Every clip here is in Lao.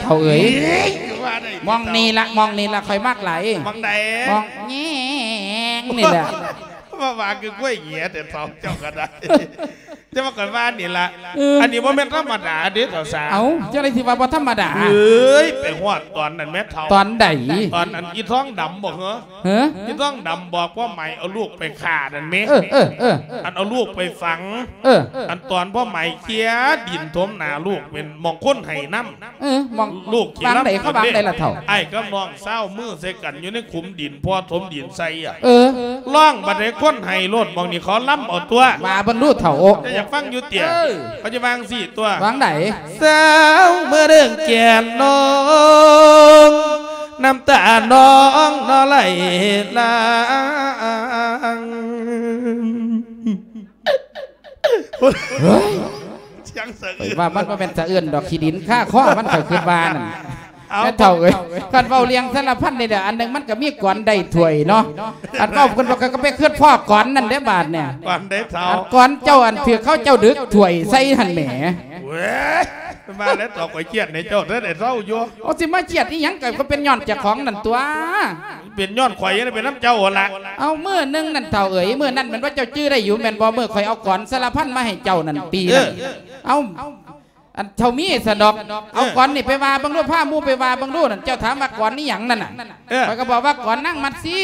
ເຖົ້າເອີຍ. ເອີຍ ວ່າໄດ້ ໝ່ອງນີ້ລະ ໝ່ອງນີ້ລະ ຂ້ອຍມັກຫຼາຍ. ໝ່ອງໃດ? ໝ່ອງແຍງນີ້ແຫຼະ. ວ່າ ວ່າຄືກ້ວຍເຫຍແຕ່ເຖົ້າເຈົ້າກໍໄດ້. ແຕ່ວ່າຂ້ອຍວ່ານີ້ລະ ເອີ ອັນນີ້ບໍ່ແມ່ນທຳມະດາເດ້ເຖົ້າສາ. ເອົ້າ ຈັ່ງໃດຊິວ່າບໍ່ທຳມະດາ? ເອີຍ ໄປຮອດຕອນນັ້ນແມ່ເຖົ້າ. ຕອນໃດ? ຕອນອັນອີທອງດຳບໍ່ເຫີ? ເອີ ອີທອງດຳບອກພໍ່ໃໝ່ເອົາລູກໄປຂ້ານັ້ນແມ. ເອີ ເອີ ເອີ ອັນເອົາລູກໄປຝັງ. ເອີ ອັນຕອນພໍ່ໃໝ່ເຄຍດິນຖົມໜ້າລູກ ເປັນໝ່ອງຄົນໄຫ້ນຳ. ເອີ ໝ່ອງ ລູກຂີ້ລຳ ວາງໃດ ເຂົາວາງໃດລະເຖົ້າ? ອ້າຍກັບນ້ອງຊາວມືໃສ່ກັນຢູ່ໃນຂຸມດິນ ພໍ່ຖົມດິນໃສ່ອະ. ເອີ ຮ້ອງບັດໃດຄົນໄຫ້ໂລດ ໝ່ອງນີ້ເຂົາລຳເອົາຕົວະ. ວ່າເບິ່ງດູເຖົ້າ. ເຈົ້າຢາກຟັງຢູ່ຕິ? ເອີ ເຂົາຈະວາງຊີ້ຕົວະ. ວາງໃດ? ສາວເມືອເດີງແກ່ນນ້ອງ ນ້ຳຕານ້ອງນອໄຫຼຫຼັ່ງ. ເຮີ້ຍ ສຽງສະອືນ ຂ້ອຍວ່າມັນບໍ່ແມ່ນສະອືນດອກ ຂີ້ດິນຄາຄໍມັນ ຂ້ອຍຄິດວ່ານັ້ນ. ເອົາ ແມ່ເຖົ້າເອີຍ ຄັນເວົ້າເລື່ອງສາລະພັນນີ້ແຫຼະ ອັນໜຶ່ງມັນກໍມີກອນໄດ້ຖ້ວຍເນາະ. ອັນເວົ້າເພິ່ນວ່າ ຂ້ອຍກໍໄປຄິດພໍ້ກອນນັ້ນເດ້ບາດນີ້. ກອນໃດເຖົ້າ? ອັນກອນເຈົ້າ ອັນຖືກເຂົາເຈົ້າດຶກຖ້ວຍໃສ່ຫັ້ນແໝ. ເວີຍ ມາແລ້ວ ຕອບຂ້ອຍຄຽດໃຫ້ເຈົ້າເດີ ໄດ້ເຊົາຢູ່. ເອົາ ຊິມາຄຽດອີ່ຫຍັງ ກໍເປັນຍ້ອນເຈົ້າຂອງນັ້ນຕົວະ. ເປັນຍ້ອນຂ້ອຍຈັ່ງໃດ ເປັນນຳເຈົ້າຫັ້ນລະ. ເອົາ ມື້ໜຶ່ງນັ້ນເຖົ້າເອີຍ ມື້ນັ້ນແມ່ນວ່າເຈົ້າຈື່ໄດ້ຢູ່ແມ່ນບໍ່? ມື້ຂ້ອຍເອົາກອນສາລະພັນມາໃຫ້ເຈົ້ານັ້ນປີນັ້ນ. ເອີ ເອົາ ອັນເຖົ້າມີສະດອກ. ເອີ ເອົາກອນນີ້ໄປວ່າເບິ່ງດູ ພາໝູ່ໄປວ່າເບິ່ງດູນັ້ນ. ເຈົ້າຖາມວ່າກອນອີ່ຫຍັງນັ້ນນະ? ເອີ ຂ້ອຍກໍບອກວ່າກອນນາງມັດຊີ.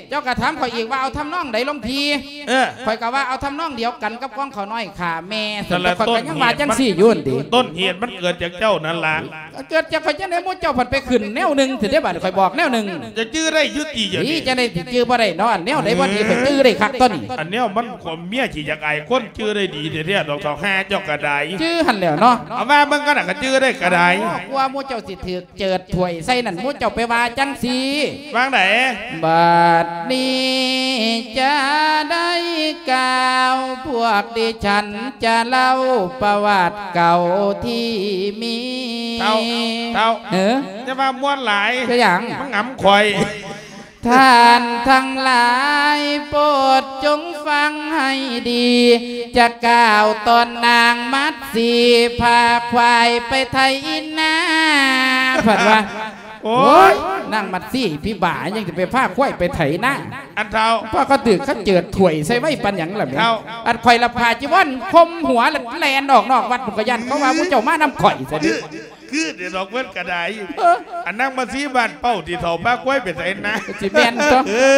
ເຈົ້າກໍຖາມຂ້ອຍອີກວ່າເອົາທຳນອງໃດຫຼວງພີ່? ເອີ ຂ້ອຍກໍວ່າເອົາທຳນອງດຽວກັນກັບຂອງຂ້ານ້ອຍຂ້າແມ່. ນັ້ນແຫຼະ ຂ້ອຍກໍຍັງວ່າຈັ່ງຊີ້ຢູ່ຫັ້ນຕິ. ຕົ້ນເຫດມັນເກີດຈາກເຈົ້ານັ້ນລະ. ເກີດຈາກຂ້ອຍຈັ່ງໃດ ໝູ່ເຈົ້າພັດໄປຂຶ້ນແນວໜຶ່ງ ຊິໄດ້ບາດຂ້ອຍບອກແນວໜຶ່ງ. ຈະຈື່ໄດ້ຢູ່ຕິ ເຈົ້ານີ້? ຈັ່ງໃດຊິຈື່ບໍ່ໄດ້ເນາະ ອັນແນວໃດບໍ່ດີ ຂ້ອຍຈື່ໄດ້ຄັກຕົວະນີ້. ອັນແນວມັນ ເມຍຊິຢາກອາຍຄົນ ຈື່ໄດ້ດີແທ້ໆດອກ ເຖົ້າຫ່າເຈົ້າກໍໄດ້. ຈື່ຫັ້ນແຫຼ້ວເນາະ. ເອົາມາເບິ່ງກັນນະ ກໍຈື່ໄດ້ກໍໄດ້. ໂອ້ ກວ່າໝູ່ເຈົ້າຊິຖືກເຈີດຖ້ວຍໃສ່ນັ້ນ ໝູ່ເຈົ້າໄປວ່າຈັ່ງຊີ້. ວ່າຈັ່ງໃດ? ບັດນີ້ຈະໄດ້ກ່າວ ພວກດິສັນຈະເລົ່າປະຫວັດເກົ່າທີ່ມີ. ເຖົ້າ ເຖົ້າ ເອີ ຢ່າວ່າມ່ວນຫຼາຍ. ເປັນຫຍັງ? ມັນຫງຳຂ້ອຍ. ທ່ານທັງຫຼາຍໂປດຈົ່ງຟັງໃຫ້ດີ ຈະກ່າວຕອນນາງມັດສີພາຄວາຍໄປໄຖນາ. ເພິ່ນວ່າ ໂອ້ຍ ໂອ້ຍ ນາງມັດສີພິບາ ຍັງຈະໄປພາຄວາຍໄປໄຖນາ. ອັນເຖົ້າ ພວກເຂົາຖືກເຂົາເຈີດຖ້ວຍໃສ່ໄວປານຫຍັງລະແມ່. ເຖົ້າ ອັນຂ້ອຍລະຜ້າຈີວອນຄົມຫົວ ລະແລ່ນອອກນອກວັດພຸ້ນ ກໍຢ້ານເຂົາວ່າໝູ່ເຈົ້າມານຳຂ້ອຍຊະເດ້. ຄືເດດອກເພິ່ນກະໄດ້. ເອີ ອັນນາງມາສີບ້ານເປົ້າ ທີ່ເຖົ້າພາຄວາຍໄປໃສນະ? ຊິແມ່ນຕົວະ. ເອີ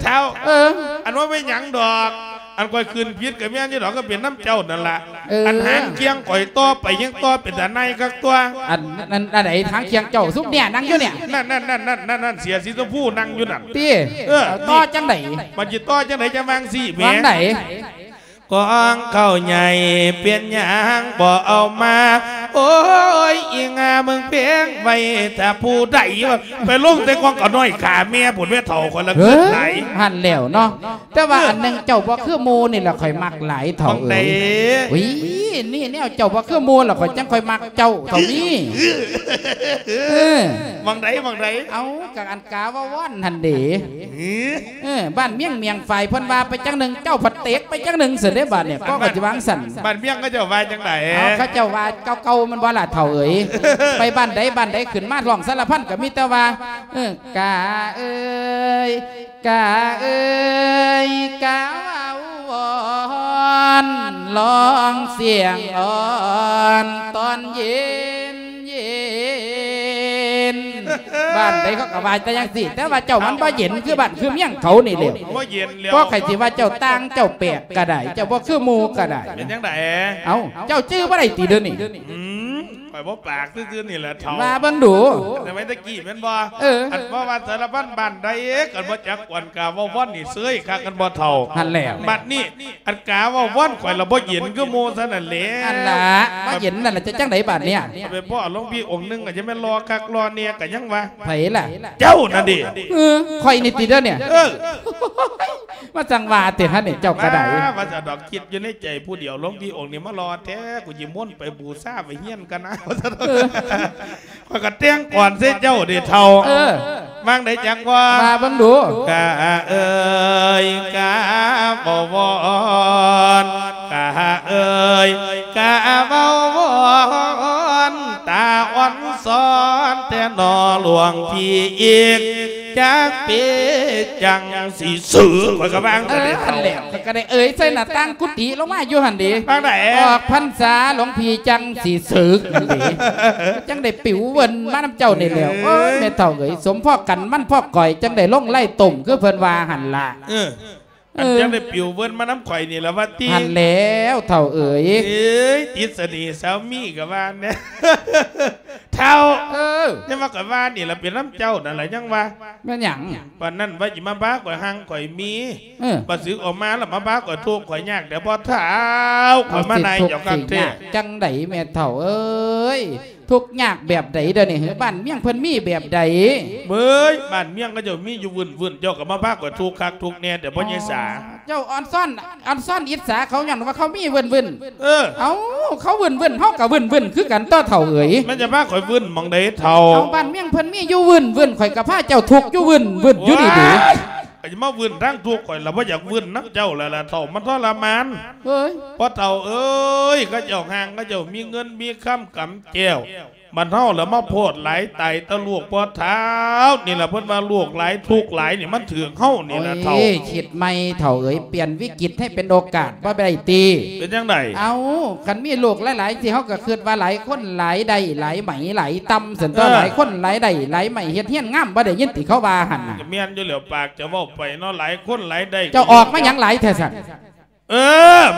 ເຖົ້າ ເອີ ອັນວ່າແມ່ນຫຍັງດອກ ອັນຂ້ອຍຂຶ້ນຜິດກະແມ່ນຢູ່ດອກ ກໍເປັນນຳເຈົ້ານັ້ນລະ. ເອີ ອັນຫາງຄຽງຂ້ອຍຕໍ່ໄປຍັງຕໍ່ເປັນຕານາຍຄັກຕົວະ. ອັນ ນັ້ນ ອັນໃດຫາງຄຽງເຈົ້າ? ຊຸມເນຍນັ່ງຢູ່ເນຍ ນັ້ນ ນັ້ນ ເສື້ອສີຊົມພູນັ່ງຢູ່ນັ້ນ. ຕິ ເອີ ຕໍ່ຈັ່ງໃດ? ມັນຊິຕໍ່ຈັ່ງໃດ? ຈະວ່າຈັ່ງຊີ້ແໝ. ວ່າຈັ່ງໃດ? ກອງເຂົ້າໃຫຍ່ເປັນຫຍັງບໍ່ເອົາມາ? ໂອ້ຍ ອີ່ຫາມຶງແພງໄວ້ຖ້າຜູ້ໃດ ວ່າໄປລົງແຕ່ກອງເຂົ້ານ້ອຍຂ້າແມ່ພຸ້ນແມ່ເຖົ້າ ຂ້ອຍລະເກີດຫຼາຍ. ເອີ ຫັ້ນແຫຼ້ວເນາະ. ແຕ່ວ່າ ເອີ ອັນໜຶ່ງເຈົ້າບໍ່ຄືໝູ່ນີ້ລະຂ້ອຍມັກຫຼາຍເຖົ້າເອີຍ. ໝ່ອງໃດ? ອຸ້ຍ ມີແນວເຈົ້າບໍ່ຄືໝູ່ລະຂ້ອຍຈັ່ງຄ່ອຍມັກເຈົ້າເຖົ້ານີ້. ເອີ ໝ່ອງໃດ ໝ່ອງໃດ? ເອົາ ກະອັນກາວາວອນຫັ້ນເດ. ເອີ ບ້ານມຽງ ມຽງຝາຍ ເພິ່ນວ່າໄປຈັ່ງໜຶ່ງ ເຈົ້າພັດເຕກໄປຈັ່ງໜຶ່ງ ຊັ້ນເດ້ບາດນີ້. ກໍວ່າຊິວ່າຈັ່ງຊັ້ນ ບ້ານມຽງເຂົາເຈົ້າວ່າຈັ່ງໃດ? ເອົາ ເຂົາເຈົ້າວ່າເກົ່າໆ ແມ່ນບໍ່ລະເຖົ້າເອີຍ? ໄປບ້ານໃດ ບ້ານໃດ ຂຶ້ນມາຮ້ອງສາລະພັນ ກໍມີແຕ່ວ່າ ເອີ ກາເອີຍ ກາເອີຍ ກາເວົ້າວອນ ຮ້ອງສຽງອ່ອນຕອນເຢັນ ເຢັນ. ບ້ານໃດເຂົາກໍວ່າແຕ່ຈັ່ງຊີ້ ແຕ່ວ່າເຈົ້າມັນບໍ່ເຢັນຄືບ້ານຄືເມືອງເຂົານີ້ແຫຼະ. ບໍ່ເຢັນແລ້ວ. ກໍໃຜຊິວ່າເຈົ້າຕ່າງເຈົ້າແປກກໍໄດ້ ເຈົ້າບໍ່ຄືໝູ່ກໍໄດ້. ເປັນຈັ່ງໃດ? ເອົ້າ ເຈົ້າຈື່ບໍ່ໄດ້ຕິດຽວນີ້? ອືມ ຂ້ອຍບໍ່ປາກຊື່ໆນີ້ແຫຼະເຖົ້າ. ວ່າເບິ່ງດູ. ແຕ່ໄວ້ແຕ່ກີ້ແມ່ນບໍ່? ເອີ ອັນວ່າ ວ່າສາລະພັນບ້ານໃດ ຄັນບໍ່ຈັກກວນກາເວົ້າວອນນີ້ເຊີຍຄັກ ຄັນບໍ່ເຖົ້າ. ຫັ້ນແຫຼະ. ບັດນີ້ ອັນກາເວົ້າວອນຂ້ອຍລະບໍ່ເຢັນຄືໝູ່ຊັ້ນນັ້ນແຫຼະ. ຫັ້ນລະ ບໍ່ເຢັນນັ້ນລະ ຈະຈັ່ງໃດບາດນີ້? ໄປພໍ້ຫຼວງພີ່ອົງໜຶ່ງ ກໍຈະແມ່ນຫຼໍ່ຄັກຫຼໍ່ແນ່ ກໍຍັງວ່າ. ໃຜລະ? ເຈົ້ານັ້ນເດ. ເອີ ຂ້ອຍນີ້ຕິດຽວນີ້. ເອີ ມາສັ່ງວ່າຕິຫັ້ນນີ້ ເຈົ້າກໍໄດ້. ວ່າ ວ່າຊັ້ນດອກ ຄິດຢູ່ໃນໃຈຜູ້ດຽວ ຫຼວງພີ່ອົງນີ້ມາຫຼໍ່ແທ້ ກູຊິມົນໄປບູຊາໄປຮຽນກັນນະ ວ່າຊັ້ນ. ເອີ ຂ້ອຍກໍແຕ່ງກອນໃສ່ເຈົ້າເດເຖົ້າ. ເອີ ວ່າຈັ່ງໃດຈັກວ່າ? ວ່າເບິ່ງດູ. ກະເອີຍ ກະເວົ້າວອນ ກະເອີຍ ກະເວົ້າວອນ ຕາອ່ອນ ສອນແທ້ໜໍຫຼວງພີ່ອີກ ຈັກເປັນຈັ່ງຊິເສີກ ຂ້ອຍກໍວ່າຈັ່ງ ເອີ ຊັ້ນເດ ນັ້ນແຫຼະ ເຂົາກໍໄດ້ເອີຍໃສ່ໜ້າຕ່າງກຸຕິລົງມາຢູ່ຫັ້ນເດ ວ່າໃດ ອອກພັນສາຫຼວງພີ່ຈັ່ງຊິເສີກນັ້ນເດ ຈັ່ງໄດ້ປິວເວີນມານຳເຈົ້ານີ້ແຫຼ້ວ ເອີຍ ໂອ້ຍ ແມ່ເຖົ້າເອີຍ ສົມພໍກັນມັນພໍກອຍ ຈັ່ງໄດ້ລົງໄລ່ຕົມ ຄືເພິ່ນວ່າຫັ້ນລະ ເອີ ອັນ ເອີ ຈັ່ງໄດ້ປິວເວີນມານຳຂ້ອຍນີ້ລະວ່າຕິ ຫັ້ນແຫຼ້ວເຖົ້າເອີຍ ເອີຍ ຕິດສະເໜ່ສາມີກໍວ່າແນ່ ເຖົ້າ ເອີ ຍັງວ່າຂ້ອຍວ່ານີ້ລະເປັນນຳເຈົ້ານັ້ນລະ ຍັງວ່າ ແມ່ນຫຍັງ? ປານນັ້ນວ່າຊິມາພາຂ້ອຍຮັ່ງຂ້ອຍມີ ເອີ ບັດສຶກອອກມາລະມາພາຂ້ອຍທຸກຂ້ອຍຍາກແດ່ພໍ່ເຖົ້າ ຂ້ອຍມານາຍເຈົ້າຄັກແທ້ ເອົາ ຊິທຸກຊິຍາກຈັ່ງໃດແມ່ເຖົ້າເອີຍ ທຸກຍາກແບບໃດດຽວນີ້ ບ້ານເມືອງເພິ່ນມີແບບໃດ? ເອີຍ ບ້ານເມືອງເຂົາເຈົ້າມີຢູ່ວື້ນໆ ເຈົ້າກໍມາພາຂ້ອຍທຸກຄັກທຸກແນ່ແຕ່ພໍ່ໃຫຍ່ສາ ອໍ ເຈົ້າອ່ອນຊ້ອນ ອ່ອນຊ້ອນອິດສາເຂົາຍ້ອນວ່າເຂົາມີວື້ນໆ ເອີ ເອົ້າ ເຂົາວື້ນໆ ເຮົາກໍວື້ນໆ ຄືກັນຕົວະເຖົ້າເອີຍ ມັນຈະພາຂ້ອຍວື້ນໝ່ອງໃດເຖົ້າ? ເອົາ ບ້ານເມືອງເພິ່ນມີຢູ່ວື້ນໆ ຂ້ອຍກໍພາເຈົ້າທຸກຢູ່ວື້ນໆ ຢູ່ນີ້ເດ ໂອ້ຍ ກໍຈະມາວື້ນທາງທຸກ ຂ້ອຍລະບໍ່ຢາກວື້ນນຳເຈົ້າແລ້ວລະເຖົ້າ ມັນທໍລະມານ ເອີຍ ພໍ່ເຖົ້າເອີຍ ເຂົາເຈົ້າຮ່າງ ເຂົາເຈົ້າມີເງິນມີຄຳກຳແກ້ວ ບັດເຮົາລະມາໂພດຫຼາຍ ຕາຍແຕ່ລູກພໍ່ເຖົ້າ ນີ້ລະເພິ່ນວ່າໂລກຫຼາຍ ທຸກຫຼາຍນີ້ມັນຖືກເຮົານີ້ລະເຖົ້າ ໂອ້ຍ ຄິດໃໝ່ເຖົ້າເອີຍ ປ່ຽນວິກິດໃຫ້ເປັນໂອກາດບໍ່ໄດ້ຕິ ເປັນຈັ່ງໃດ? ເອົ້າ ຄັນມີໂລກຫຼາຍໆ ຊິເຮົາກໍຄິດວ່າຫຼາຍຄົນຫຼາຍໄດ້ ຫຼາຍໄໝຫຼາຍຕຳ ຊັ້ນຕົວະ ເອີ ຫຼາຍຄົນຫຼາຍໄດ້ ຫຼາຍໄໝເຮັດເຮືອນງາມ ບໍ່ໄດ້ຍິນຕິເຂົາວ່າຫັ້ນນະ ກໍແມ່ນຢູ່ແລ້ວ ປາກຈະເວົ້າໄປເນາະ ຫຼາຍຄົນຫຼາຍໄດ້ ເຈົ້າອອກມາຫຍັງຫຼາຍແທ້ຊັ້ນ? ເອີ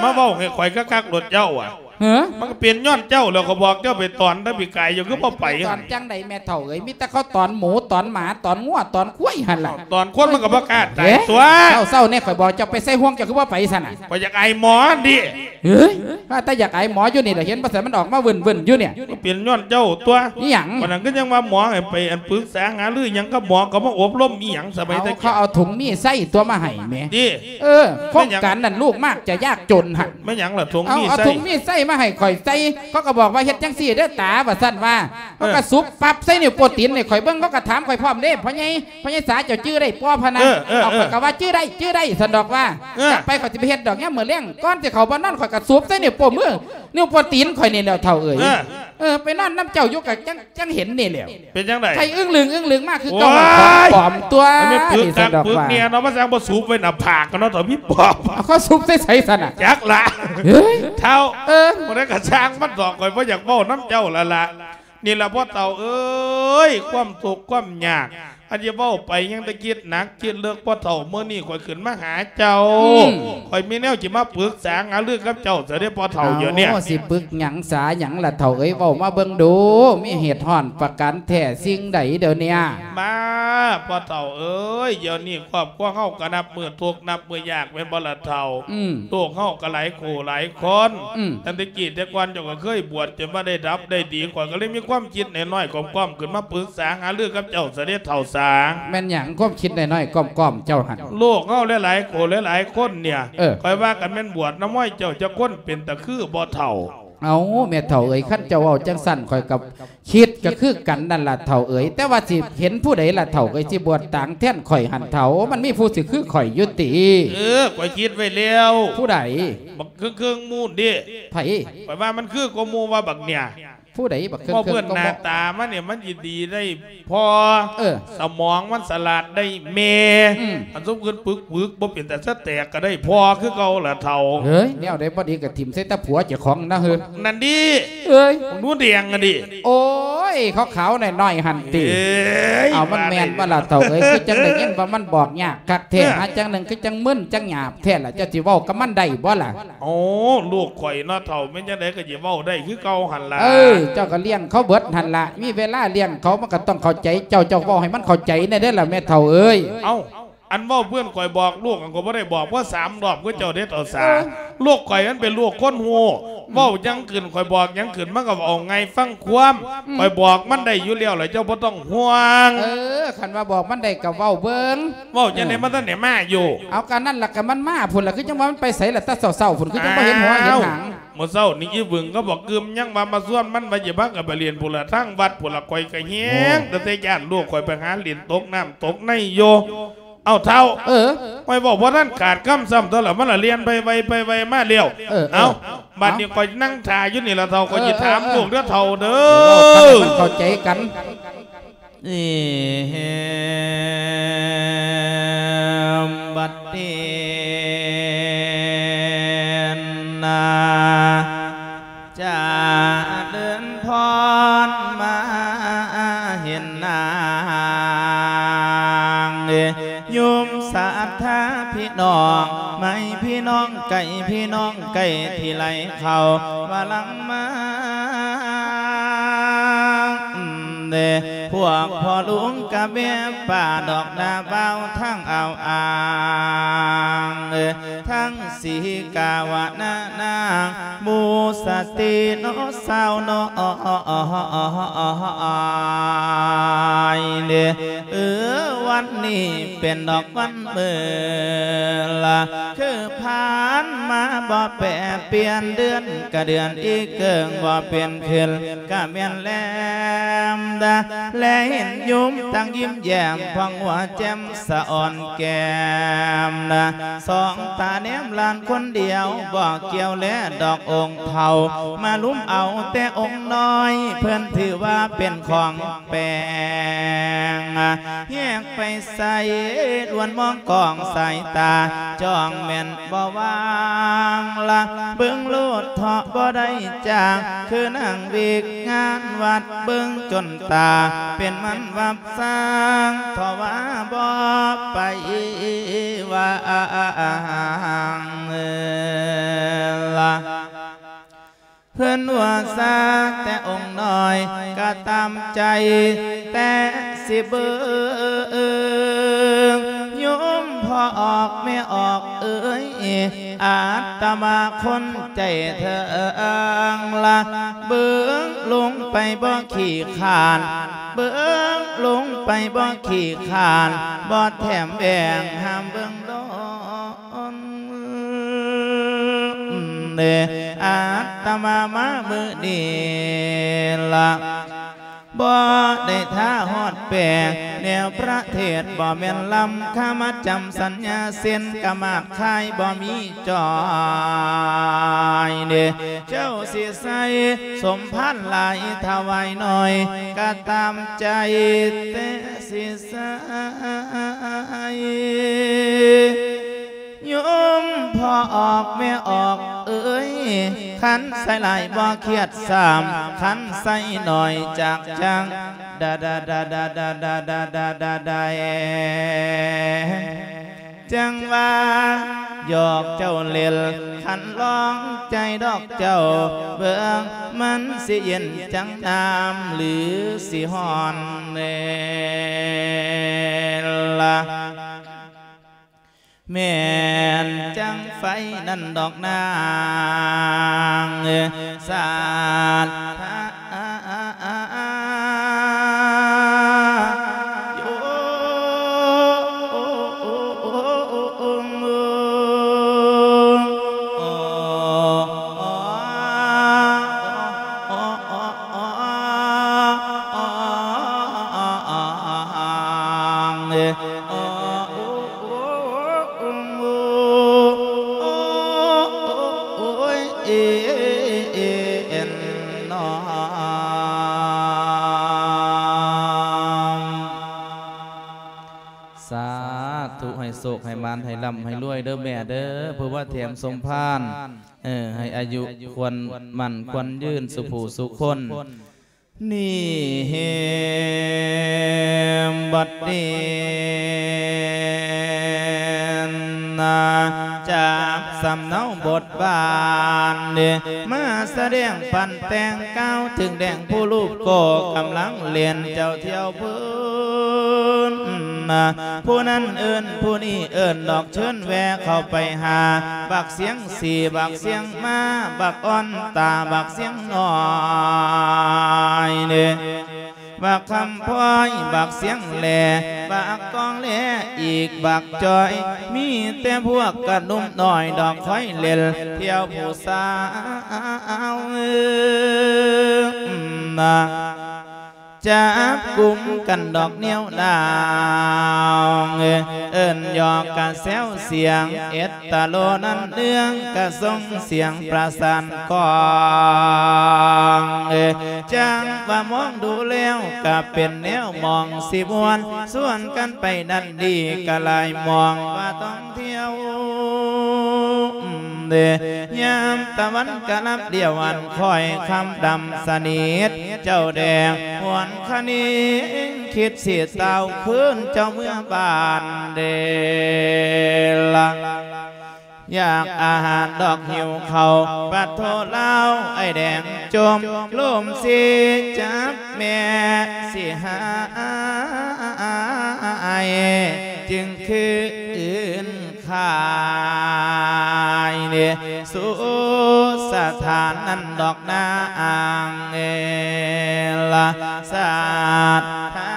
ມາເວົ້າໃຫ້ຂ້ອຍຄັກໆໂລດເຈົ້າອະ ເອີ ມັນກໍເປັນຍ້ອນເຈົ້າແລ້ວ ຂ້ອຍບອກເຈົ້າໄປຕອນແຕ່ປີກາຍ ເຈົ້າຄືບໍ່ໄປ ຕອນຈັ່ງໃດແມ່ເຖົ້າເອີຍ ມີແຕ່ເຂົາຕອນໝູ ຕອນໝາ ຕອນງົວ ຕອນຄວາຍຫັ້ນລະ ຕອນຄົນມັນກໍບໍ່ກ້າຕາຍຕົວະ ເຊົ້າໆ ແນ່ ຂ້ອຍບອກເຈົ້າໄປໃສ່ຫ່ວງ ເຈົ້າຄືບໍ່ໄປຊັ້ນນະ ຂ້ອຍຢາກອາຍໝໍຫັ້ນຕິ ເອີຍ ວ່າແຕ່ຢາກອາຍໝໍຢູ່ນີ້ລະ ເຫັນບໍ່ຊັ້ນ ມັນອອກມາວື້ນໆຢູ່ນີ້ ມັນເປັນຍ້ອນເຈົ້າຕົວະ ອີຫຍັງ? ປານນັ້ນຄືຍັງວ່າໝໍໃຫ້ໄປ ອັນ ປຶກສາຫາລືຫຍັງກັບໝໍ ກໍມາອົບຮົມອີຫຍັງ ສະບາຍແຕ່ ເຂົາເອົາຖົງມີໄຊຕົວະມາໃຫ້ແໝ ຕິ ເອີ ໂຄງການນັ້ນລູກມາກຈະຍາກຈົນຫັ້ນ ແມ່ນຫຍັງລະຖົງມີໄຊ ເອົາຖົງມີໄຊມາໃຫ້ຂ້ອຍໃສ່ ເຂົາກໍບອກວ່າເຮັດຈັ່ງຊີ້ເດີຕາ ວ່າຊັ້ນວ່າ ເອີ ເຂົາກໍສຸບປັບໃສ່ນິ້ວໂປ້ຕີນໃຫ້ຂ້ອຍເບິ່ງ ເຂົາກໍຖາມຂ້ອຍພ້ອມເດ້ ພໍ່ໃຫຍ່ ພໍ່ໃຫຍ່ສາເຈົ້າຈື່ໄດ້ບໍ່ພະນະ ເອີ ເອີ ເອີ ຂ້ອຍກໍວ່າຈື່ໄດ້ ຈື່ໄດ້ຊັ້ນດອກວ່າ ເອີ ຈັກໄປ ຂ້ອຍຊິໄປເຮັດດອກ ຍາມມື້ແລງກ່ອນຊິເຂົ້າບ່ອນນອນ ຂ້ອຍກໍສຸບໃສ່ນິ້ວໂປ້ມື ນິ້ວໂປ້ຕີນຂ້ອຍນີ້ແຫຼ້ວເຖົ້າເອີຍ ເອີ ເອີ ໄປນອນນຳເຈົ້າຢູ່ກໍຈັ່ງ ຈັ່ງເຫັນນີ້ແຫຼ້ວ ເປັນຈັ່ງໃດ? ໄຂ້ອຶ້ງລຶງອຶ້ງລຶງມາຄືເກົ່າ ໂອ້ຍ ຂອງປອມຕົວະ ມັນແມ່ນປຶກຄັກປຶກແນ່ເນາະ ມັນຈັ່ງບໍ່ສຸບໄວ້ໜ້າຜາກກັນເນາະ ເຖົ້າມີປອມ ເອົາ ເຂົາສຸບໃສ່ໃສຊັ້ນນະ? ຈັກລະ ເອີຍ ເຖົ້າ ເອີ ບໍ່ໄດ້ກະຊ່າງມັນດອກ ຂ້ອຍບໍ່ຢາກເວົ້ານຳເຈົ້າລະລະ ນີ້ລະພໍ່ເຖົ້າເອີຍ ຄວາມທຸກຄວາມຍາກ ອັນຈະເວົ້າໄປຍັງແຕ່ຄິດໜັກຄິດເລິກ ພໍ່ເຖົ້າ ມື້ນີ້ຂ້ອຍຂຶ້ນມາຫາເຈົ້າ ອືມ ຂ້ອຍມີແນວຊິມາປຶກສາຫາລືກັບເຈົ້າຊະເດ້ພໍ່ເຖົ້າ ດຽວນີ້ ເອົາ ຊິປຶກຫຍັງສາຫຍັງລະເຖົ້າເອີຍ ເວົ້າມາເບິ່ງດູ ມີເຫດຮ້ອນປະການແທ້ສິ່ງໃດດຽວນີ້? ມາ ພໍ່ເຖົ້າເອີຍ ດຽວນີ້ຄອບຄົວເຮົາກໍນັບມື້ທຸກນັບມື້ຍາກແມ່ນບໍ່ລະເຖົ້າ? ອືມ ລູກເຮົາກໍຫຼາຍຄູ່ຫຼາຍຄົນ ອືມ ຕັ້ງແຕ່ກີ້ແຕ່ກ່ອນເຈົ້າກໍເຄີຍບວດຈົນວ່າໄດ້ດັບໄດ້ດີ ຂ້ອຍກໍເລີຍມີຄວາມຄິດນ້ອຍໆ ກ້ອມໆ ຂຶ້ນມາປຶກສາຫາລືກັບເຈົ້າຊະເດ້ເຖົ້າສາ. ແມ່ນຫຍັງຄວາມຄິດນ້ອຍໆ ກ້ອມໆ ເຈົ້າຫັ້ນ? ລູກເຮົາຫຼາຍໆ ໂຄຫຼາຍໆ ຄົນເນ່ຍ ເອີ ຂ້ອຍວ່າຄັນແມ່ນບວດນຳຫ້ອຍເຈົ້າຈັກຄົນເປັນຕາຄືບໍ່ເຖົ້າ? ເອົ້າ ແມ່ເຖົ້າເອີຍ ຄັນເຈົ້າເວົ້າຈັ່ງຊັ້ນ ຂ້ອຍກໍຄິດກໍຄືກັນນັ້ນລະເຖົ້າເອີຍ ແຕ່ວ່າຊິເຫັນຜູ້ໃດລະເຖົ້າເອີຍ ຊິບວດຕາງແທນຂ້ອຍຫັ້ນເຖົ້າ? ມັນມີຜູ້ຊິຄືຂ້ອຍຢູ່ຕິ? ເອີ ຂ້ອຍຄິດໄວ້ແລ້ວ. ຜູ້ໃດ? ບັກເຄິ່ງໆ ມູນເດ້. ໃຜ? ຂ້ອຍວ່າມັນຄືກວ່າໝູ່ວ່າບັກເນ່ຍ. ຜູ້ໃດບັກເຄິ່ງໆ ເວົ້າເບິ່ງ ກໍບໍ່ ໜ້າຕາມັນນີ້ ມັນຊິດີໄດ້ພໍ່ ເອີ ສະໝອງມັນສະຫຼາດໄດ້ແມ່ ອືມ ອັນຊຸມຂຶ້ນປຶກໆ ບໍ່ເປັນຕາສະແຕກກໍໄດ້ພໍ່ຄືເກົ່າລະເຖົ້າ. ເອີຍ ແນວໃດບໍ່ດີກໍຖິ້ມໃສ່ຕາຜົວເຈົ້າຂອງນະເຮີ. ນັ້ນດີ ເອີຍ ໜູແດງຫັ້ນດີ. ໂອ້ຍ ຂາວໆ ນ້ອຍໆ ຫັ້ນຕິ. ເອີຍ ເອົາ ມັນແມ່ນບໍ່ລະເຖົ້າເອີຍ? ຄືຈັ່ງໄດ້ຍິນວ່າມັນບອກຍາກຄັກແທ້ ເອີ ຫາຈັ່ງໜຶ່ງຄືຈັ່ງມຶນຈັ່ງຫຍາບແທ້ລະ ເຈົ້າຊິເວົ້າກັບມັນໄດ້ບໍ່ລະ? ໂອ້ ລູກຂ້ອຍເນາະເຖົ້າ ແມ່ນຈັ່ງໃດກໍຊິເວົ້າໄດ້ຄືເກົ່າຫັ້ນລະ. ເອີ ເຈົ້າກໍລ້ຽງເຂົາເບິດຫັ້ນລະ ມີເວລາລ້ຽງເຂົາ ມັນກໍຕ້ອງເຂົ້າໃຈເຈົ້າ ເຈົ້າເວົ້າໃຫ້ມັນເຂົ້າໃຈແດ່ເດີ້ລະແມ່ເຖົ້າເອີຍ. ເອົ້າ ອັນເວົ້າເພື່ອນຂ້ອຍບອກລູກ ອັນຂ້ອຍບໍ່ໄດ້ບອກພໍສາມລອບຄືເຈົ້າເດ້ເຖົ້າສາ. ເອີ ລູກຂ້ອຍມັນເປັນລູກຄົນຮູ້ ອືມ ເວົ້າຫຍັງຂຶ້ນ ຂ້ອຍບອກຫຍັງຂຶ້ນ ມັນກໍເອົາງ່າຍຟັງຄວາມ ອືມ ຂ້ອຍບອກມັນໄດ້ຢູ່ແລ້ວລະ ເຈົ້າບໍ່ຕ້ອງຫ່ວງ. ເອີ ຄັນວ່າບອກມັນໄດ້ກໍເວົ້າເບິ່ງ. ເວົ້າຈັ່ງໃດ ເອີ ມັນທັນໄດ້ມາຢູ່? ເອົາ ກະນັ້ນລະ ກະມັນມາພຸ້ນລະ ຄືຈັ່ງວ່າມັນໄປໃສລະ ແຕ່ເຊົ້າໆ ພຸ້ນ ຄືຈັ່ງບໍ່ເຫັນຫົວເຫັນຫາງ. ມື້ເຊົ້ານີ້ອີຫວຶງກັບບັກກຶມຍັງວ່າມາຊວນມັນວ່າຊິພາກັນໄປຫຼິ້ນພຸ້ນລະ ທາງວັດພຸ້ນລະ ຂ້ອຍກະແຮງ ໂອ້ ຕັ້ງແຕ່ຢ້ານລູກຂ້ອຍໄປຫາຫຼິ້ນຕົກນ້ຳຕົກໃນຢູ່. ເອົາເຖົ້າ ເອີ ຂ້ອຍເວົ້າບໍ່ທັນຂາດຄຳຊ້ຳຕົວລະ ມັນລະລຽນໄປໄວໄປໄວມາແລ້ວ. ເອີ ເອີ ເອົາ ເອົາ ບັດນີ້ຂ້ອຍນັ່ງຖ້າຢູ່ນີ້ລະເຖົ້າ ເອີ ຂ້ອຍຊິຖາມ ເອີ ເອີ ລູກເດີເຖົ້າເດີ. ເວົ້າກັນໃຫ້ມັນເຂົ້າໃຈກັນ. ເອີ ບັດນີ້ນາ ຈະເລີນພອນມາເຫັນນາງ ໂຍມສັດທາພີ່ນ້ອງ ໄໝພີ່ນ້ອງໄກ ພີ່ນ້ອງໃກ້ທີ່ໄຫຼເຂົ້າວ່າຫຼັງມາ ເດ້ ພວກພໍ່ລຸງກະແມ່ປ້າດອກໜ້າບ່າວທັງອາວອາງ ທັງສີກາວະນະນາງ ໝູສະຕີເນາະສາວນ້ອຍເດ້. ເອີ ວັນນີ້ເປັນດອກວັນເມີລະ ຄືຜ່ານມາບໍ່ແປປ່ຽນ ເດືອນກະເດືອນອີກເກີງ ບໍ່ເປັນຄືນກະແມ່ນແລມດາ ແລເຫັນໂຍມຕັ້ງຍິ້ມແຍ້ມ ຜ່ອງຫົວແຈ່ມສະອອນແກ້ມນະ ສອງຕາແນມຫຼານຄົນດຽວ ບໍ່ກ່ຽວແລດອກອົງເຖົ້າ ມາລຸມເອົາແຕ່ອົງນ້ອຍ ເພິ່ນຖືວ່າເປັນຂອງແປງ ແຍກໄປໃສ ລວນມອງກ້ອງສາຍຕາ ຈ້ອງແມ່ນບໍ່ວາງລະ ເບິ່ງໂລດເຖາະບໍ່ໄດ້ຈ້າງ ຄືນາງວິກງານວັດ ເບິ່ງຈົນຕາເປັນມັນວັບ ສ້າງເຖາະວ່າບໍ່ໄປວາງລະ ເພິ່ນວ່າຊາກແຕ່ອົງນ້ອຍ ກະຕາມໃຈແຕ່ຊິເບິ່ງ ໂຍມພໍ່ອອກແມ່ອອກເອີຍ ອາດຕະມາຄົນໃຈເຖິງລະ ເບິ່ງລົງໄປບໍ່ຂີ້ຄ້ານ ເບິ່ງລົງໄປບໍ່ຂີ້ຄ້ານ ບໍ່ແຖມແບ່ງຫ້າມເບິ່ງດົນເດ ອາດຕະມາມາມື້ນີ້ລະ ບໍ່ໄດ້ຖ້າຮອດແປງ ແນວພະເທດບໍ່ແມ່ນລຳ ຄາມາຈຳສັນຍາເຊັ່ນ ກະໝາດຄາຍບໍ່ມີຈ່ອຍເດ ເຈົ້າຊິໃສ່ສົມພານຫຼາຍຖວາຍໜ້ອຍ ກະຕາມໃຈແຕ່ຊິໃສ່ ໂຍມພໍ່ອອກແມ່ອອກເອີຍ ຄັນໃສ່ຫຼາຍບໍ່ຄຽດຊ້ຳ ຄັນໃສ່ໜ້ອຍຈາກຈັງ ດາດາດາດາດາດາດາດາດາ ຈັ່ງວ່າຢອກເຈົ້າເຫຼັ້ນ ຄັນລອງໃຈດອກເຈົ້າເບິ່ງ ມັນຊິເຢັນຈັ່ງນ້ຳ ຫຼື ຊິຮ້ອນແດ່ລະ ແມ່ນຈັ່ງໄຟນັ້ນດອກນາງ ສາດທາ ສາທຸ ໃຫ້ໂຊກໃຫ້ໝານ ໃຫ້ລ່ຳໃຫ້ລວຍເດີແມ່ເດີ ຜູ້ມາແຖມສົມພານ ເອີ ໃຫ້ອາຍຸຂວັນໝັ້ນຂວັນຍືນ ສຸຜູ້ສຸຄົນ. ນີ້ເຮມບັດນີ້ນາ ຈາກສຳເນົາບົດບານເດ ມາສະແດງປັ້ນແຕ່ງ ກ່າວເຖິງແດງຜູ້ຮູບກໍກຳລັງເຫຼັ້ນ ເຈົ້າທ່ຽວເພິ່ນນາ ຜູ້ນັ້ນເອີ້ນ ຜູ້ນີ້ເອີ້ນດອກ ເຊີນແວ່ເຂົ້າໄປຫາ ບັກສຽງສີ ບັກສຽງມ້າ ບັກອ່ອນຕາ ບັກສຽງນ້ອຍເດ ບັກຄຳພ້ອຍ ບັກສຽງແຫຼ ບັກກອງແຫຼ ອີກບັກຈອຍ ມີແຕ່ພວກກະໜຸ່ມນ້ອຍດອກ ຄອຍເຫຼັ້ນທ່ຽວຜູ້ສາວນາ. ຈັບກຸມກັນດອກນຽວດາວ ເອີ້ນຢອກກະແຊວສຽງ ເອັດຕະໂລນັ້ນເລື່ອງ ກະສົ່ງສຽງປະສານກ້ອງ ຈັ່ງວ່າມອງດູແລ້ວ ກະເປັນແນວມອງຊິມ່ວນ ຊວນກັນໄປນັ້ນດີ ກະຫຼາຍມອງວ່າຕ້ອງ ທ່ຽວ ຍາມຕາວັນກະລັບດຽວ ອັນຄ້ອຍຄ່ຳດຳສະໜິດ ເຈົ້າແດງຫວນຄະນິງ ຄິດຊິຕ່າວຄືນເຈົ້າເມືອບ້ານເດລະ ຢາກອາຫານດອກຫິວເຂົ້າ ປະໂທລາວອ້າຍແດງຈົ່ມ ລົມຊິຈັບແມ່ຊິຫາຍ ຈຶ່ງຄືນ ຂາຍເດ ສຸສະຖານນັ້ນດອກນາງເອລະ ສາທາ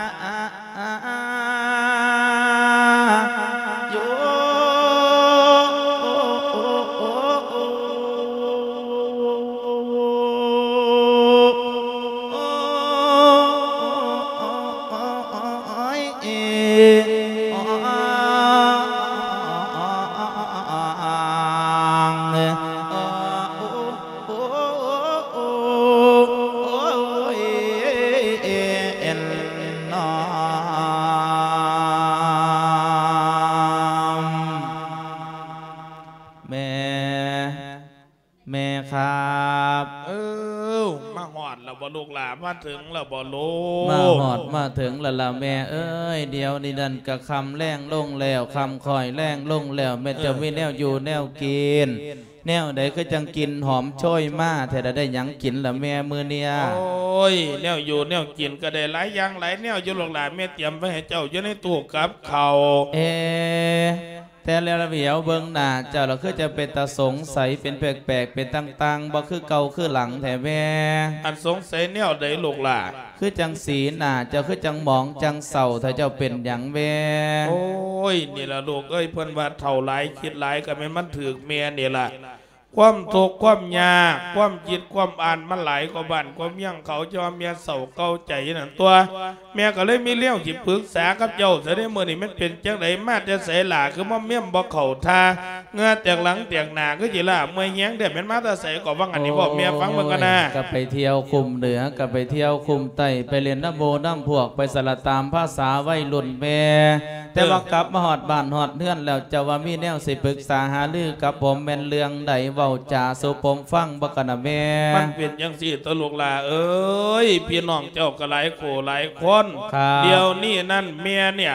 ແມ່ ແມ່ຄັບ ເອີ ມາຮອດແລ້ວບໍ່ລູກຫຼ້າ? ມາເຖິງແລ້ວບໍ່ລູກ? ມາຮອດມາເຖິງແລ້ວລະແມ່ເອີຍ ດຽວນີ້ນັ້ນກະຄ່ຳແລງລົງແລ້ວ ຄ່ຳຄ້ອຍແລງລົງແລ້ວ ແມ່ເຈົ້າ ເອີ ມີແນວຢູ່ແນວກິນ ແນວໃດຄືຈັ່ງກິ່ນຫອມໂຊຍມາແທ້ລະ ໄດ້ຫຍັງກິນລະແມ່ມື້ນີ້? ໂອ້ຍ ແນວຢູ່ແນວກິນກະໄດ້ຫຼາຍຢ່າງຫຼາຍແນວຢູ່ລູກຫຼ້າ ແມ່ຕຽມໄວ້ໃຫ້ເຈົ້າຢູ່ໃນຕູ້ກັບເຂົ້າ ເອ ແຕ່ແລ້ວລະຫວຽວເບິ່ງໜ້າເຈົ້າລະຄືຈະເປັນຕາສົງໄສ ເປັນແປກໆ ເປັນຕ່າງໆ ບໍ່ຄືເກົ່າຄືຫຼັງແທ້ແມ່? ອັນສົງໄສແນວໃດລູກຫຼ້າ? ຄືຈັ່ງສີໜ້າເຈົ້າຄືຈັ່ງໝອງຈັ່ງເສົ້າແທ້ ເຈົ້າເປັນຫຍັງແມ່? ໂອ້ຍ ນີ້ລະລູກເອີຍ ເພິ່ນວ່າເຖົ້າຫຼາຍຄິດຫຼາຍ ກະແມ່ນມັນຖືກແມ່ນີ້ລະ ຄວາມທຸກຄວາມຍາກ ຄວາມຄິດຄວາມອ່ານມັນຫຼາຍກວ່າບ້ານກວ່າເມືອງເຂົາ ຈັ່ງວ່າແມ່ເສົ້າເກົ່າໃຈນັ້ນຕົວະ ແມ່ກະເລີຍມີແນວຊິປຶກສາກັບເຈົ້າຊະເດ້ ມື້ນີ້ມັນເປັນຈັ່ງໃດ ມາແຕ່ໃສຫຼ້າ ຄືມາເມມບໍ່ເຂົ້າທ່າ ເຫື່ອແຕກຫຼັງແຕກໜ້າຄືຊິລ້າເມື່ອຍແຮງແທ້ ແມ່ນມາແຕ່ໃສກໍວ່າຫັ້ນນີ້ ເວົ້າແມ່ຟັງເບິ່ງກ່ອນນາ. ໂອ້ຍ ກະໄປທ່ຽວຄຸ້ມເໜືອ ກະໄປທ່ຽວຄຸ້ມໃຕ້ ໄປຫຼິ້ນນຳໝູ່ນຳພວກ ໄປສະລະຕາມພາສາໄວລຸ້ນແມ່ ແຕ່ວ່າ ເອີ ກັບມາຮອດບ້ານຮອດເຮືອນແລ້ວ ເຈົ້າວ່າມີແນວຊິປຶກສາຫາລືກັບຜົມ ແມ່ນເລື່ອງໃດ ເວົ້າຈາສູ່ຜົມຟັງບໍ່ກະນະແມ່? ມັນເປັນຈັ່ງຊີ້ຕົວະລູກຫຼ້າເອີຍ ພີ່ນ້ອງເຈົ້າກະຫຼາຍຄູ່ຫຼາຍຄົນ ຄັບ ດຽວນີ້ນັ້ນແມ່ເນ່ຍ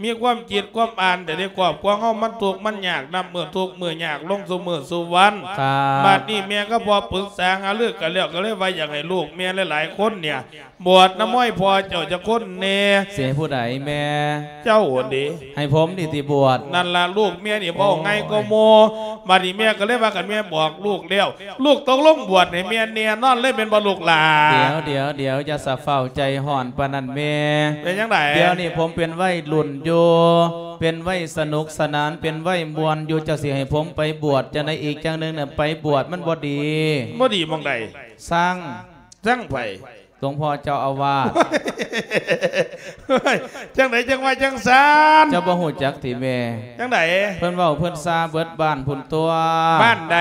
ມີຄວາມຄິດຄວາມອ່ານແຕ່ໃນຄອບຄົວເຮົາມັນທຸກມັນຍາກ ນັບມື້ທຸກມື້ຍາກລົງສູ່ມື້ສູ່ວັນ ຄັບ ບາດນີ້ແມ່ກັບພໍ່ປຶກສາຫາລືກັນແລ້ວ ກະເລີຍວ່າຢາກໃຫ້ລູກແມ່ຫຼາຍໆຄົນເນ່ຍ ບວດນຳມອຍພໍ່ເຈົ້າຈັກຄົນແນ່. ຊິໃຫ້ຜູ້ໃດແມ່? ເຈົ້າຫັ້ນເດ. ໃຫ້ຜົມນີ້ຕິບວດ? ນັ້ນລະ ລູກແມ່ນີ້ເວົ້າງ່າຍກວ່າໝູ່. ໂອ້ຍ ບາດນີ້ແມ່ກໍເລີຍວ່າ ຄັນແມ່ບອກລູກແລ້ວ ລູກຕົກລົງບວດໃຫ້ແມ່ແນ່ນອນເລີຍແມ່ນບໍ່ລູກຫຼ້າ? ດຽວ ດຽວ ດຽວ ຢ່າສະຟ້າວໃຈຮ້ອນປານນັ້ນແມ່. ເປັນຈັ່ງໃດ? ດຽວນີ້ຜົມເປັນໄວລຸ້ນຢູ່ ເປັນໄວສະໜຸກສະໜານ ເປັນໄວມ່ວນຢູ່ ເຈົ້າຊິໃຫ້ຜົມໄປບວດຈັ່ງໃດອີກ? ຈັ່ງໜຶ່ງນະ ໄປບວດມັນບໍ່ດີ. ບໍ່ດີໝ່ອງໃດ? ຊັງ. ຊັງໃຜ? ຫຼວງພໍ່ເຈົ້າອາວາດ. ຈັ່ງໃດຈັ່ງວ່າຈັ່ງຊັ້ນ? ເຈົ້າບໍ່ຮູ້ຈັກຕິແມ່? ຈັ່ງໃດ? ເພິ່ນເວົ້າເພິ່ນຊາເບິດບ້ານພຸ້ນຕົວະ. ບ້ານໃດ?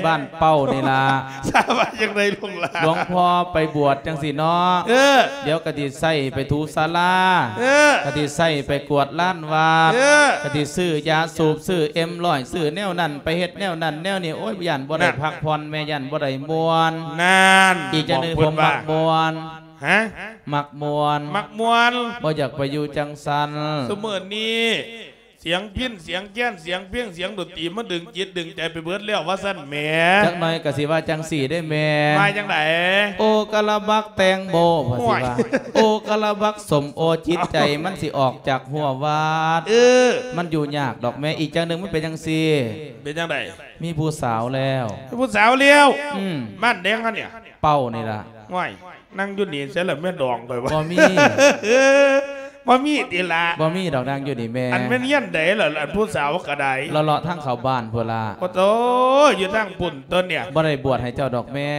ບ້ານເປົ້ານີ້ລະ. ຊາວ່າຈັ່ງໃດຫຼວງຫຼ້າ? ຫຼວງພໍ່ໄປບວດຈັ່ງຊີ້ເນາະ. ເອີ. ດຽວກະຊິໃຊ້ໄປຖູສາລາ. ເອີ. ກະຊິໃຊ້ໄປກວາດລານວັດ. ເອີ. ກະຊິຊື້ຢາສູບ ຊື້ເອັມຮ້ອຍ ຊື້ແນວນັ້ນ ໄປເຮັດແນວນັ້ນແນວນີ້. ໂອ້ຍ ຢ້ານບໍ່ໄດ້ ນັ້ນ ພັກຜ່ອນແມ່ ຢ້ານບໍ່ໄດ້ມ່ວນ. ນັ້ນ ອີກຢ່າງໜຶ່ງ ບອກເພິ່ນວ່າ ຜົມມັກມ່ວນ. ຮະ? ມັກມ່ວນ. ມັກມ່ວນ. ບໍ່ຢາກໄປຢູ່ຈັ່ງຊັ້ນ. ຊຸມື້ນີ້ ສຽງພິນ ສຽງແຄນ ສຽງເພງ ສຽງດົນຕີ ມັນດຶງຈິດດຶງໃຈໄປເບິດແລ້ວ ວ່າຊັ້ນແໝ. ຈັກໜ້ອຍກໍຊິວ່າຈັ່ງຊີ້ເດ້ແມ່. ວ່າຈັ່ງໃດ? ໂອກະລະບັກແຕງໂມ ວ່າຊິວ່າ. ໂອ້ຍ ໂອກະລະບັກສົ້ມໂອ ຈິດໃຈມັນຊິອອກຈາກຮົ້ວວັດ. ເອີ ມັນຢູ່ຍາກດອກແມ່. ອີກຢ່າງໜຶ່ງ ມັນເປັນຈັ່ງຊີ້. ເປັນຈັ່ງໃດ? ມີຜູ້ສາວແລ້ວ. ມີຜູ້ສາວແລ້ວ? ອືມ. ບ້ານໃດຫັ້ນເນ່ຍ? ເປົ້ານີ້ລະ. ໂອ້ຍ ນັ່ງຢູ່ນີ້ໃສລະແມ່ດອງຂ້ອຍວ່າ. ບໍ່ມີ. ບໍ່ມີຕິລະ ບໍ່ມີດອກນາງຢູ່ນີ້ແມ່ ອັນແມ່ນຮຽນໃດລະ ອັນຜູ້ສາວກໍໄດ້ ເລາະໆທາງເຂົ້າບ້ານພຸ້ນລະ ໂອ້ໂຕ ຢູ່ທາງພຸ້ນຕົວເນີ້ຍ ບໍ່ໄດ້ບວດໃຫ້ເຈົ້າດອກແມ່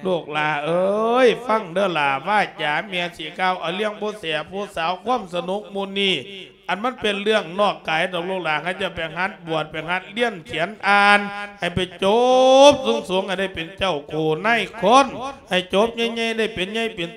ລູກຫຼ້າເອີຍ ຟັງເດີຫຼ້າ ວາຈາແມ່ຊິກ່າວ ເອົາເລື່ອງຜູ້ແສຜູ້ສາວ ຄວາມສະໜຸກມື້ນີ້ ອັນມັນເປັນເລື່ອງນອກກາຍດອກລູກຫຼ້າ ໃຫ້ເຈົ້າໄປຫັດບວດ ໄປຫັດລຽນຂຽນອ່ານ ໃຫ້ໄປຈົບສູງໆ ໃຫ້ໄດ້ເປັນເຈົ້າໂຄນາຍຄົນ ໃຫ້ຈົບໃຫຍ່ໆ ໄດ້ເປັນໃຫຍ່ເປັນ